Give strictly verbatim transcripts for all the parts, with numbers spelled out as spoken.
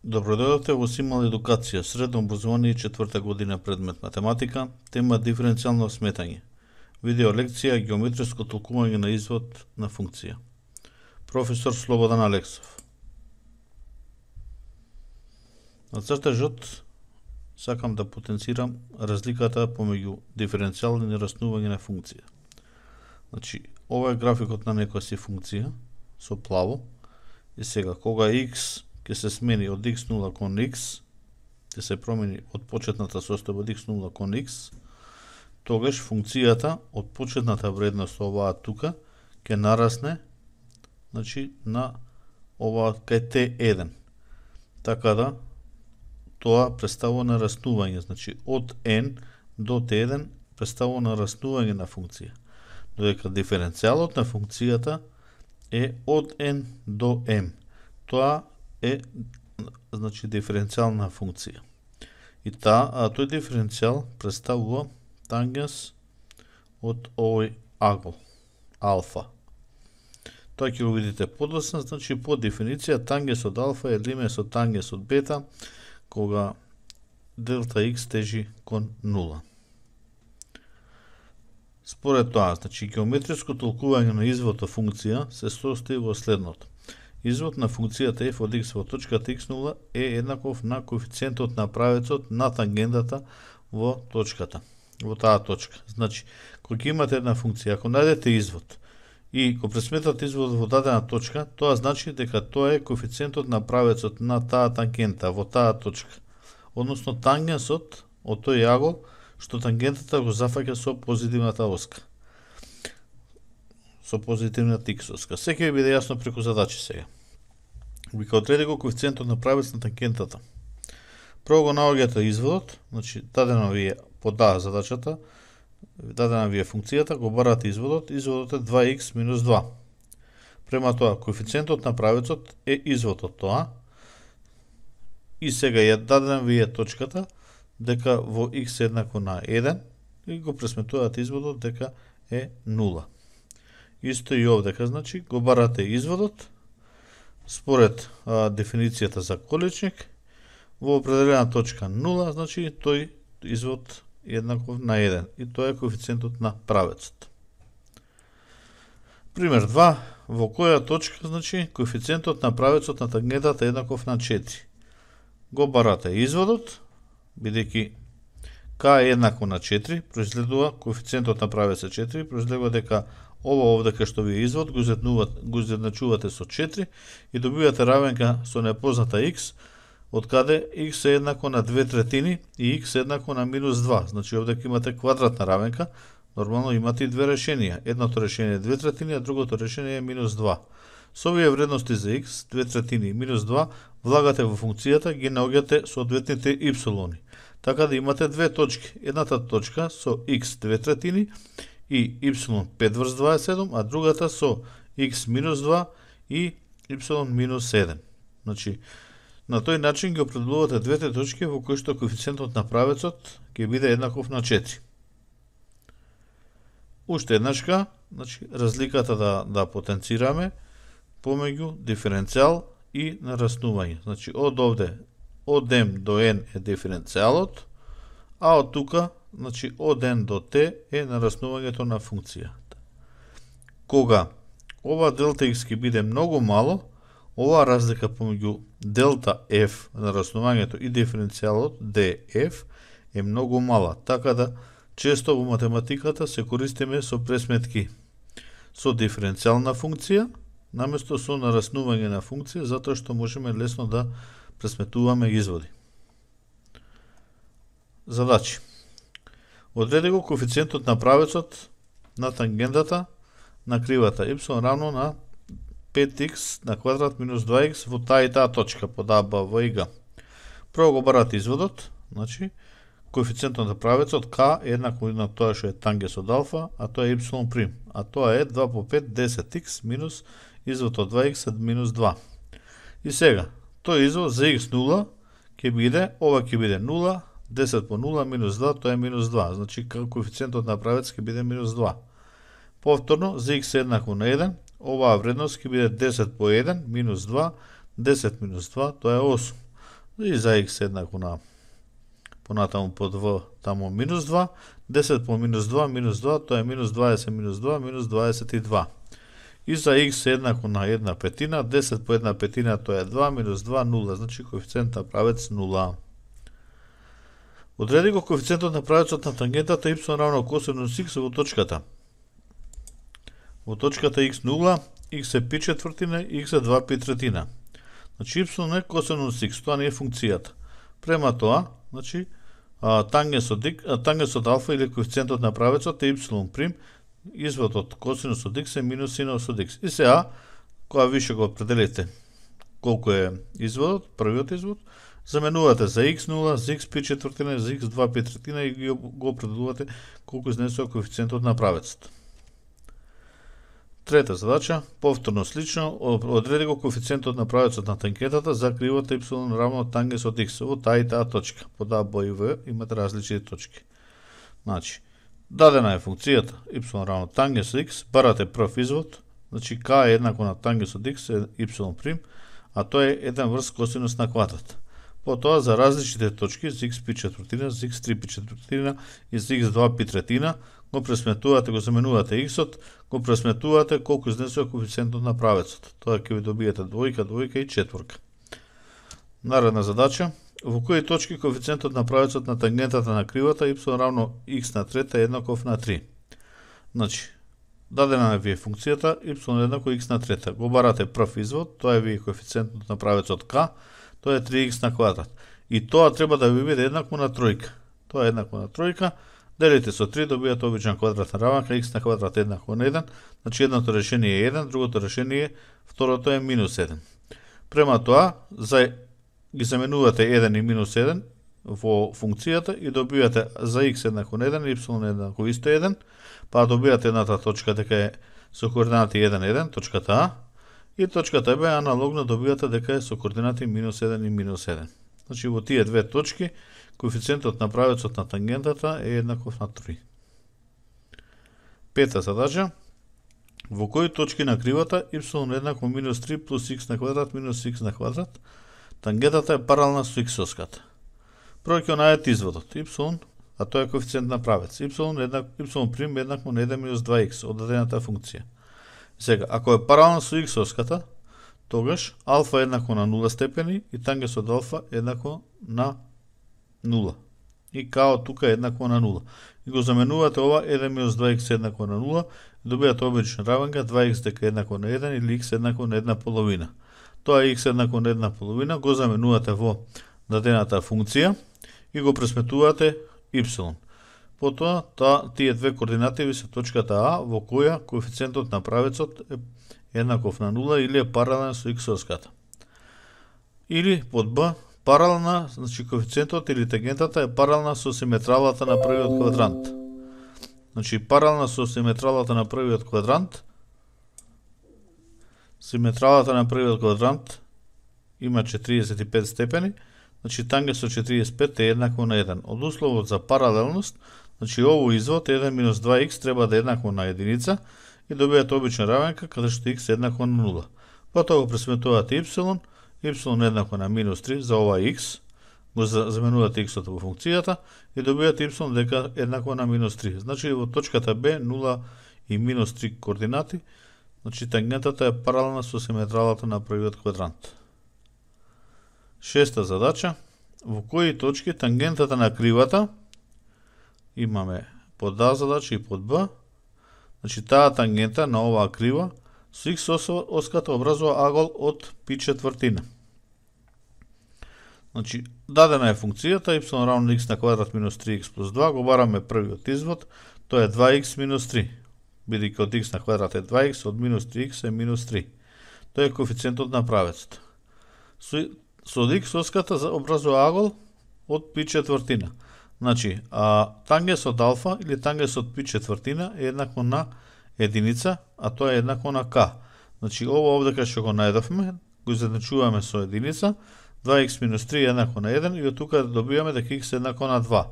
Добродојдовте во Симал едукација, средно образование, четврта година, предмет математика, тема диференцијално сметање. Видео лекција геометриско толкување на извод на функција. Професор Слободан Алексов. На цртежот сакам да потенцирам разликата помеѓу диференцијално и нараснување на функција. Значи, ова е графикот на некоја си функција со плаво и сега кога x ќе се смени од икс нула кон x, ќе се промени од почетната состојба од икс нула кон x, тогаш функцијата од почетната вредност оваа тука ќе нарасне, значи на оваа кај т еден. Така да тоа представува нараснување, значи од n до т еден представува нараснување на функција, додека диференцијалот на функцијата е од n до m. Тоа е значи диференцијална функција. И та, а тој диференцијал представува тангенс од овој агол, алфа. Тоа ќе го видите подоцна, значи по дефиниција тангенс од алфа е риме со тангенс од бета, кога делта x тежи кон нула. Според тоа, значи геометриско толкување на извод од функција се состои во следното. Извод на функцијата f од x во точката икс нула е еднаков на коефициентот на правецот на тангентата во точката, во таа точка. Значи, кога имате една функција, ако најдете извод и го пресметате изводот во дадена точка, тоа значи дека тоа е коефициентот на правецот на таа тангента во таа точка, односно тангенсот од тој агол што тангентата го зафаќа со позитивната оска. Со позитивната x оска. Секој ќе биде јасно преку задачи сега. Вика одреди го коефициентот на правец на тангентата. Прво го наоѓате изводот, значи дадена ви е по да задачата, дадена ви е функцијата, го барате изводот, изводот е два икс минус два. Према тоа коефициентот на правецот е извод од тоа. И сега ја дадена ви е точката дека во x е еднакво на еден и го пресметувате изводот дека е нула. Исто и овдека, значи, го барате изводот, според а, дефиницијата за количник, во определена точка нула, значи, тој извод е еднаков на еден, и тоа е коефициентот на правецот. Пример два, во која точка, значи, коефициентот на правецот на тангентата е еднаков на четири. Го барате изводот, бидејќи k е еднакво на четири, произледува коефициентот на правецот четири, произледува дека ова овдека што ви е извод, го изедначувате со четири и добивате равенка со непозната x, од каде x е еднакво на две третини и x е еднакво на минус два. Значи овдека имате квадратна равенка, нормално имате и две решенија. Едното решение е две третини, а другото решение е минус два. Со овие вредности за x, две третини и минус два, влагате во функцијата, ги наоѓате соодветните y. Така да имате две точки. Едната точка со x две третини и y пет врз дваесет и седум, а другата со x минус два и y минус еден. Значи, на тој начин ги определувате двете точки во кои што коефициентот на правецот ќе биде еднаков на четири. Уште еднашка, значи, разликата да, да потенцираме помеѓу диференцијал и нараснување. Значи, од овде, од m до n е диференцијалот, а од тука, значи, од n до t е нараснувањето на функцијата. Кога ова делта x ќе биде многу мало, оваа разлика помеѓу делта f, нараснувањето и диференцијалот df е многу мала, така да често во математиката се користиме со пресметки со диференцијална функција, наместо со нараснување на функција, затоа што можеме лесно да пресметуваме изводи. Задачи. Одреди го коефициентот на правецот на тангентата на кривата y равно на пет икс на квадрат минус два икс во таа и таа точка под а, б, в и г. Прво го барате изводот, значи коефициентот на правецот k е еднакво на тоа што е тангенс од алфа, а тоа е y', а тоа е два по пет десет икс минус извод од два икс минус два. И сега, тој извод за x нула ќе биде, ова ќе биде нула, десет по нула минус два, тоа е минус два. Значи, коефициентот на правец ќе биде минус два. Повторно, за x е еднакво на еден, оваа вредност ќе биде десет по еден минус два, десет минус два, тоа е осум. и за x еднакво на понатаму по два, таму минус два, десет по минус два, минус два, тоа е минус дваесет минус два, минус дваесет и два. И за x еднакво на една петина, десет по една петина, тоа е два, минус два, нула, значи коефициент на правец нула. Одреди го коефициентот на правецот на тангентата y равно косинус x во точката. Во точката x нула, x е пи четвртина, x е два пи третина. Значи y е косинус x, тоа не е функцијата. Према тоа, значи тангенсот тангенсот алфа или коефициентот на правецот е y прим, изводот косинус од x е минус синус од x. И сега, кога више го определите колку е изводот, првиот извод, заменувате за x нула, за x пи четвртина, за x два пи третина и го определувате колку изнесува коефициентот на правецот. Трета задача, повторно слично, одреди го коефициентот на правецот на тангентата за кривата y равно тангенсот x во таа и таа точка. По А, Б и В имате различни точки. Значи, дадена е функцијата y равно тангенсот x, барате прв извод, значи k е еднакво на тангенсот x е y прим, а тоа е еден врз косинус на квадрат. Потоа за различните точки, за x пи четвртина, за x три пи четвртина и за x два пи третина, го пресметувате, го заменувате x-от, го пресметувате колку изнесува коефициентот на правецот. Тоа ќе ви добиете двојка, двојка и четворка. Наредна задача, во кои точки коефициентот на правецот на тангентата на кривата y равно x на трета е еднаков на три. Значи, дадена ви е функцијата y еднакво x на трета. Го барате прв извод, тоа е ви коефициентот на правецот k, тоа е три икс на квадрат. И тоа треба да ви биде еднакво на тројка. Тоа е еднакво на тројка. Делите со три, добијате обична квадратна раванка, x на квадрат еднакво на еден, значи едното решение е еден, другото решение, второто е минус еден. Према тоа, за, ги заменувате еден и минус еден во функцијата и добијате за x еднакво на еден, y еднакво исто еден, па добијате едната точка дека е со координати еден еден, точката А, и точката Б аналогно добијате дека е со координати минус еден и минус еден. Значи во тие две точки, коефициентот на правецот на тангентата е еднаков на три. Пета задача. Во кои точки на кривата y еднакво минус три плюс x на квадрат минус x на квадрат, тангентата е паралелна со x-оската. Прво ќе најдете изводот y, а тоа е коефициент на правец. y еднакво y прим еднакво на еден минус два икс од дадената функција. Сега, ако е паралелна со x-оската, тогаш алфа е еднакво на нула степени и тангенсот алфа е еднакво на нула. И као тука е еднакво на нула. И го заменувате ова еден минус два икс еднакво на нула, и добијате обична равенка два икс дека е еднакво на еден или x еднакво на една половина. Тоа е x еднакво на една половина, го заменувате во дадената функција и го пресметувате y. Потоа, та, тие две координати ви се точката А, во која коефициентот на правецот е еднаков на нула или е паралелен со x-оската. Или под Б, паралелна, значи коефициентот или тангентата е паралелна со симетралата на првиот квадрант. Значи паралелна со симетралата на првиот квадрант. Симетралата на првиот квадрант има четириесет и пет степени, значи тангенсот четириесет и пет е еднакво на еден. Од условот за паралелност, значи овој извод еден минус два икс треба да е еднакво на единица и добијате обична равенка каде што x е еднакво на нула. Потоа го пресметувате y, y еднакво на минус три за ова x, го заменувате x-от во функцијата и добијате y дека еднакво на минус три. Значи во точката Б нула и минус три координати, значи тангентата е паралелна со симетралата на првиот квадрант. Шеста задача. Во кои точки тангентата на кривата, имаме под А задача и под Б, значи таа тангента на оваа крива со x оската образува агол од пи четвртина. Значи, дадена е функцијата y равно x на квадрат минус три икс плюс два, го бараме првиот извод, тоа е два икс минус три. Бидејќи од x на квадрат е два икс, од минус три икс е минус три. Тоа е коефициентот на правецот. Со, со x оската образува агол од пи четвртина. Значи, а, тангенсот алфа или тангенсот пи четвртина е еднакво на единица, а тоа е еднакво на k. Значи, ова овде кај што го најдовме, го изедначуваме со единица, два икс минус три е еднакво на еден и од тука добиваме дека x е еднакво на два.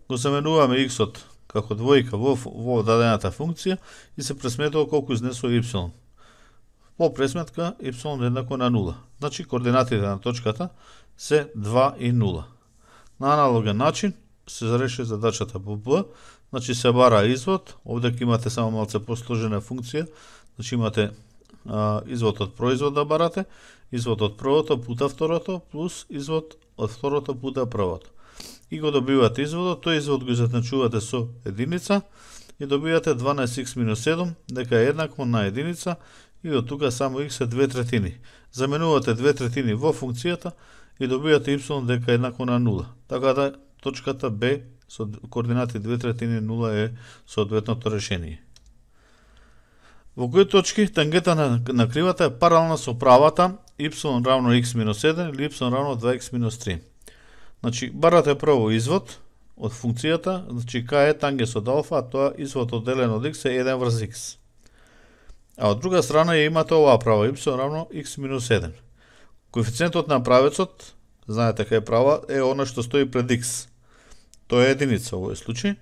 Го заменуваме x-от како двојка во, во дадената функција и се пресметува колку изнесува y. по пресметка y еднакво на нула. Значи координатите на точката се два и нула. На аналоген начин се реши задачата по Б, значи се бара извод, овде имате само малце посложена функција, значи имате а, извод од производ да барате, извод од првото пута второто, плюс извод од второто пута првото. И го добивате изводот, тој извод го изедначувате со единица и добивате дванаесет икс минус седум, дека е еднакво на единица и од тука само x е две третини. Заменувате две третини во функцијата и добивате y дека е еднакво на нула. Така да точката Б со координати две третини нула е соодветното решение. Во кои точки тангента на, на кривата е паралелна со правата y равно x минус еден или y равно два икс минус три. Значи, барате прво извод од функцијата, значи k е тангенс од алфа, а тоа извод од делен од x е еден врз x. А од друга страна ја имате оваа права y равно x минус еден. Коефициентот на правецот, знаете кај е права, е она што стои пред x. Тоа е единица во овој случај.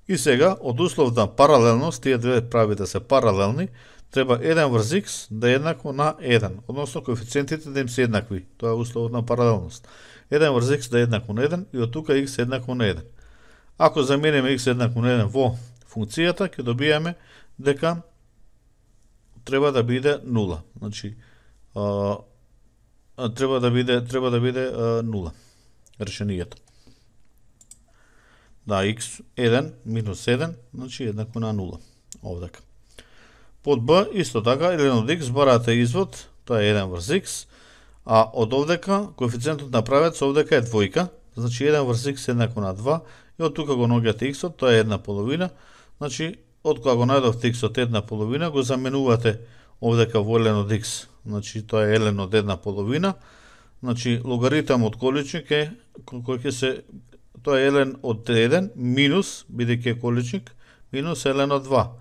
И сега, од услов на паралелност, тие две прави да се паралелни, треба еден врз x да е еднакво на еден, односно коефициентите да им се еднакви. Тоа е условот на паралелност. еден врз x да е еднакво на еден и од тука x е еднакво на еден. Ако замениме x еднакво на еден во функцијата, ќе добиеме дека треба да биде нула. Значи, а, треба да биде треба да биде а, нула. Решението. Да, x еден минус еден, значи еднакво на нула. Овдека. Под b исто така, еден од x барате извод, тоа е еден врз x, а од овдека коефициентот на правец овдека е двојка, значи еден врз x е еднакво на два, и од тука го наоѓате x-от, тоа е една половина, значи од кога го најдовте x-от една половина, го заменувате овдека во елен од x, значи тоа е елен од една половина, значи логаритам од количник е кој ќе се, тоа е елен од еден минус, бидејќи е количник, минус елен од два.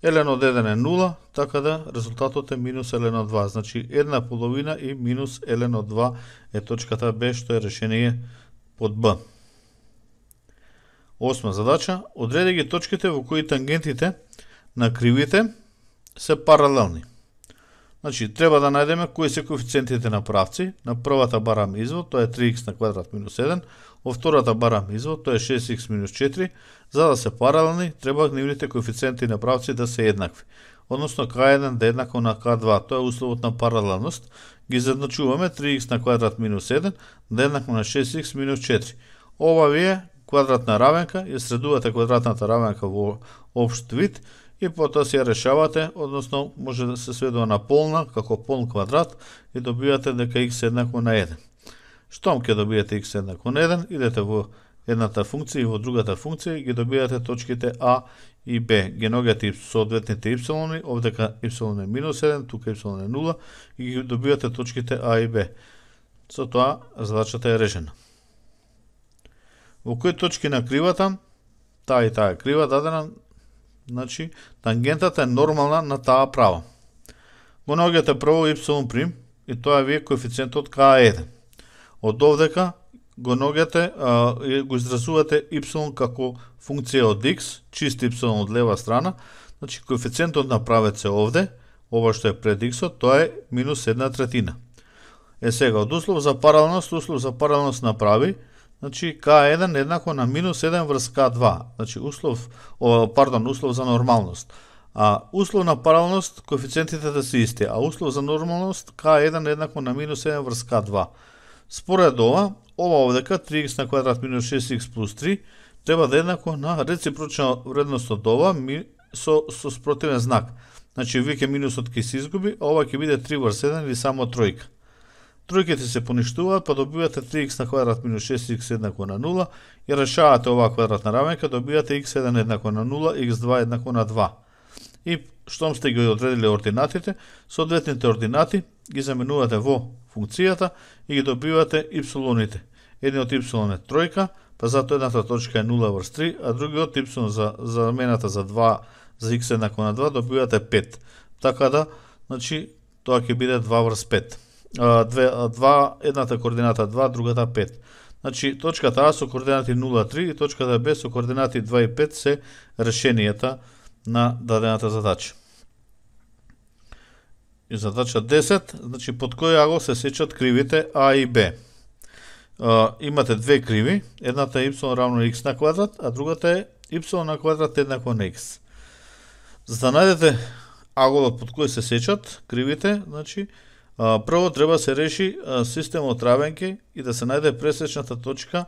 Елен од еден е нула, така да резултатот е минус елен од два. Значи една половина и минус елен од два е точката Б, што е решение под Б. Осма задача. Одреди ги точките во кои тангентите на кривите се паралелни. Значи, треба да најдеме кои се коефициентите на правци. На првата барам извод, тоа е три икс на квадрат минус еден. Во втората барам извод, тоа е шест икс минус четири. За да се паралелни, треба нивните коефициенти на правци да се еднакви. Односно, ка еден да е еднакво на ка два. Тоа е условот на паралелност. Ги задначуваме три икс на квадрат минус еден да е еднакво на шест икс минус четири. Ова ви е квадратна равенка, ја средувате квадратната равенка во општ вид и потоа се ја решавате, односно може да се сведува на полна, како полн квадрат и добивате дека x е еднакво на еден. Штом ќе добиете x еднакво на еден, идете во едната функција и во другата функција и ги добивате точките А и Б. Ги наоѓате соодветните y, овдека y е минус еден, тука y е нула и ги добивате точките А и Б. Со тоа задачата е решена. Во кои точки на кривата, таа и таа е крива дадена, значи тангентата е нормална на таа права. Го наоѓате прво y' и тоа ви е коефициентот ка еден. Од овдека го наоѓате и го изразувате y како функција од x, чист y од лева страна, значи коефициентот на правец е овде, ова што е пред x-от, тоа е минус една третина. Е сега, од услов за паралелност, услов за паралелност направи, значи ка еден еднакво на минус еден врз ка два, значи услов, о, пардон, услов за нормалност. А услов на паралелност, коефициентите да се исти, а услов за нормалност, ка еден еднакво на минус еден врз ка два. Според ова, ова овдека три икс на квадрат минус шест икс плюс три треба да е еднакво на реципрочна вредност од ова со, со спротивен знак. Значи, веќе минусот ќе се изгуби, а ова ќе биде три врз еден или само тројка. Тројките се поништуваат, па добивате три икс на квадрат минус шест икс еднакво на нула и решавате оваа квадратна равенка, добивате икс еден еднакво на нула, икс два еднакво на два. И штом сте ги одредили ординатите, соодветните ординати ги заменувате во функцијата и ги добивате y-ите. Едниот y е тројка, па затоа едната точка е нула врз три, а другиот y за замената за два, за x еднакво на два, добивате пет. Така да, значи, тоа ќе биде два врз пет. два, едната координата два, другата пет. Значи, точката А со координати нула три и точката Б со координати два и пет се решенијата на дадената задача. и задача десет, значи под кој агол се сечат кривите А и Б. Uh, имате две криви, едната е y равно x на квадрат, а другата е y на квадрат еднакво на x. За да најдете аголот под кој се сечат кривите, значи uh, прво треба се реши uh, системот равенки и да се најде пресечната точка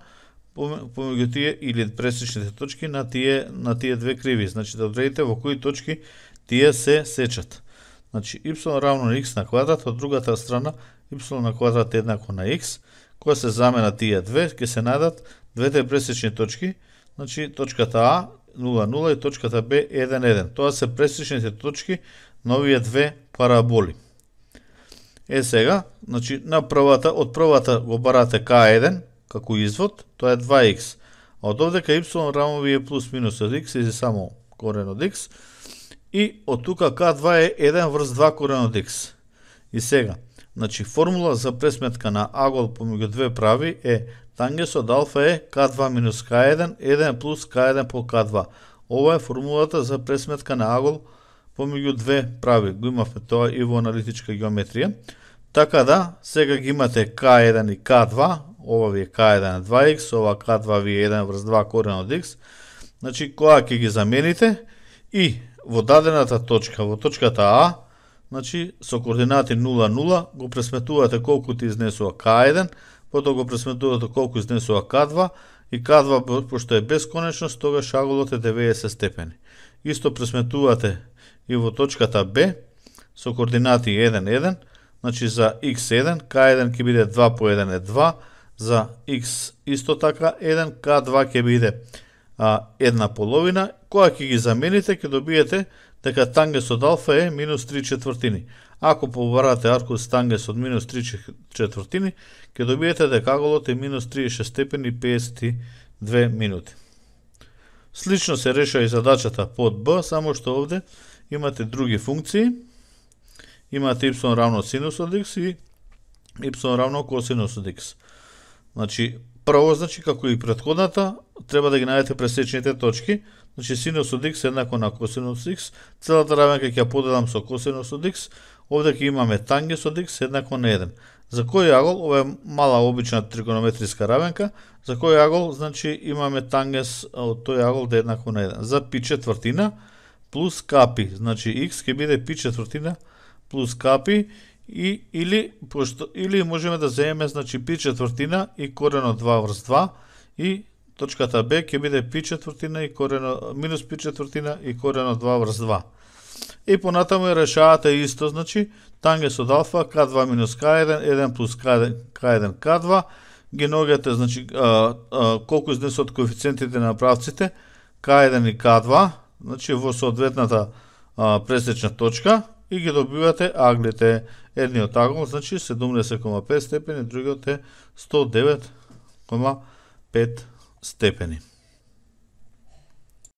помеѓу тие или пресечните точки на тие на тие две криви, значи да одредите во кои точки тие се сечат. Значи y равно на x на квадрат, од другата страна y на квадрат еднакво на x. Кога се замена тие две, ќе се најдат двете пресечни точки, значи точката А нула нула и точката Б еден еден. Тоа се пресечните точки на овие две параболи. Е сега, значи на првата, од првата го барате К еден како извод, тоа е два икс. А од овдека y равно ви е плюс минус од x или само корен од x. И од тука К два е еден врз два корен од x. И сега, значи формула за пресметка на агол помеѓу две прави е тангенсот алфа е К два минус К еден, еден плюс К еден по К два. Ова е формулата за пресметка на агол помеѓу две прави. Го имавме тоа и во аналитичка геометрија. Така да, сега ги имате К еден и К два, ова ви е К еден е два икс, ова К два ви е еден врз два корен од x. Значи, кога ќе ги замените и во дадената точка, во точката А, значи, со координати нула нула го пресметувате колку ти изнесува К еден, потоа го пресметувате колку изнесува К два, и К два, пошто е бесконечност, тогаш аголот е деветдесет степени. Исто пресметувате и во точката Б, со координати еден еден, значи за икс еден, К еден ќе биде два по еден е два, за x исто така еден, К два ќе биде а, една половина. Кога ќе ги замените, ќе добиете дека тангенсот алфа е минус три четвртини. Ако побарате аркус тангенс од минус три четвртини, ќе добиете дека аголот е минус триесет и шест степени и педесет и две минути. Слично се решава и задачата под Б, само што овде имате други функции. Имате y равно синус од x и y равно косинус од x. Значи, прво, значи, како и претходната, треба да ги најдете пресечните точки. Значи, синус од x еднакво на косинус x. Целата равенка ќе ја поделам со косинус од x. Овде ќе имаме тангенс од x еднакво на еден. За кој агол, ова е мала обична тригонометриска равенка, за кој агол, значи, имаме тангенс од тој агол да е еднакво на еден. За пи четвртина плюс капи, значи x ќе биде пи четвртина плюс капи, и или пошто или можеме да земеме, значи, пи четвртина и корен од два врз два, и точката Б ќе биде пи четвртина и корен од, минус пи четвртина и корен од два врз два. И понатаму решавате исто, значи, тангенс од алфа К два минус К еден, еден плюс К еден, К еден К два, ги ногате, значи, а, а, колку изнесот коефициентите на правците К еден и К два, значи, во соодветната а, пресечна точка, и ги добивате аглите. Едниот агол, значи, седумдесет кома пет степени, другиот е сто девет кома пет степени.